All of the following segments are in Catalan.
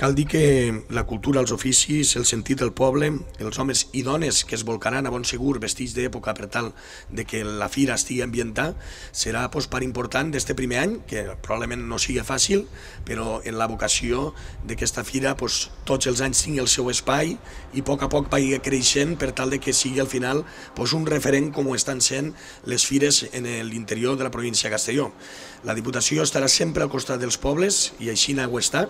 Cal dir que la cultura, els oficis, el sentit del poble, els homes i dones que es volcaran a bon segur vestits d'època per tal de que la fira estigui ambientada, serà part important d'este primer any, que probablement no sigui fàcil, però en la vocació d'aquesta fira tots els anys tingui el seu espai i a poc vagi creixent per tal de que sigui al final un referent com ho estan sent les fires en l'interior de la província de Castelló. La Diputació estarà sempre al costat dels pobles i així ho està,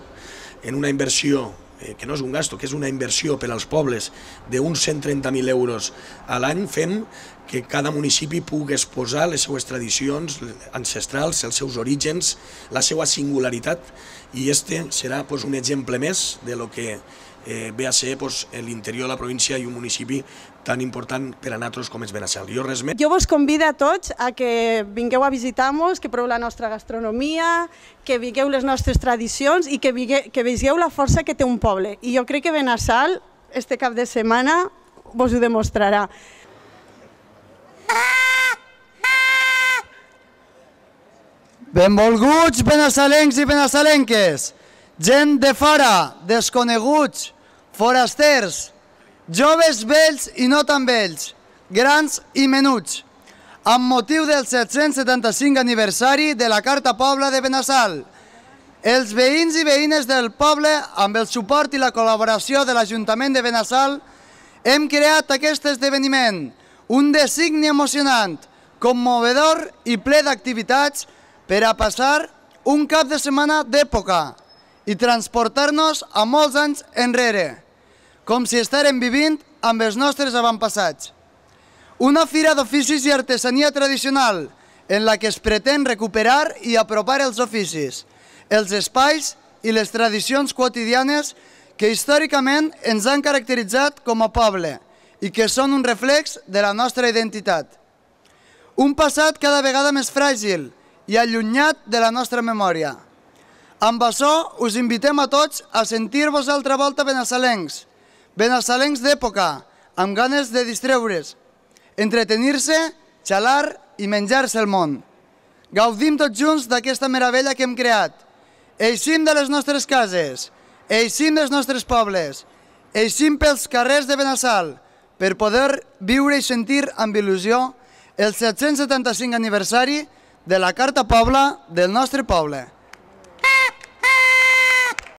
en una inversió, que no és un gasto, que és una inversió per als pobles d'uns 130.000 euros a l'any, fem que cada municipi pugui exposar les seues tradicions ancestrals, els seus orígens, la seva singularitat, i este serà un exemple més de lo que ve a ser l'interior de la província i un municipi tan important per a nosaltres com és Benassal. Jo vos convido a tots a que vingueu a visitar-nos, que proveu la nostra gastronomia, que veieu les nostres tradicions i que veieu la força que té un poble. I jo crec que Benassal, este cap de setmana, vos ho demostrarà. Benvolguts benassalencs i benassalenques, gent de fora, desconeguts, forasters, joves vells i no tan vells, grans i menuts, amb motiu del 775 aniversari de la Carta Pobla de Benassal. Els veïns i veïnes del poble, amb el suport i la col·laboració de l'Ajuntament de Benassal, hem creat aquest esdeveniment, un designi emocionant, commovedor i ple d'activitats per a passar un cap de setmana d'època i transportar-nos a molts anys enrere, com si estàrem vivint amb els nostres avantpassats. Una fira d'oficis i artesania tradicional en la que es pretén recuperar i apropar els oficis, els espais i les tradicions quotidianes que històricament ens han caracteritzat com a poble i que són un reflex de la nostra identitat. Un passat cada vegada més fràgil i allunyat de la nostra memòria. Amb això us invitem a tots a sentir-vos altra volta benassalencs, benassalencs d'època, amb ganes de distreure's, entretenir-se, xalar i menjar-se el món. Gaudim tots junts d'aquesta meravella que hem creat. Eixim de les nostres cases, eixim dels nostres pobles, eixim pels carrers de Benassal per poder viure i sentir amb il·lusió el 775 aniversari de la Carta Pobla del nostre poble.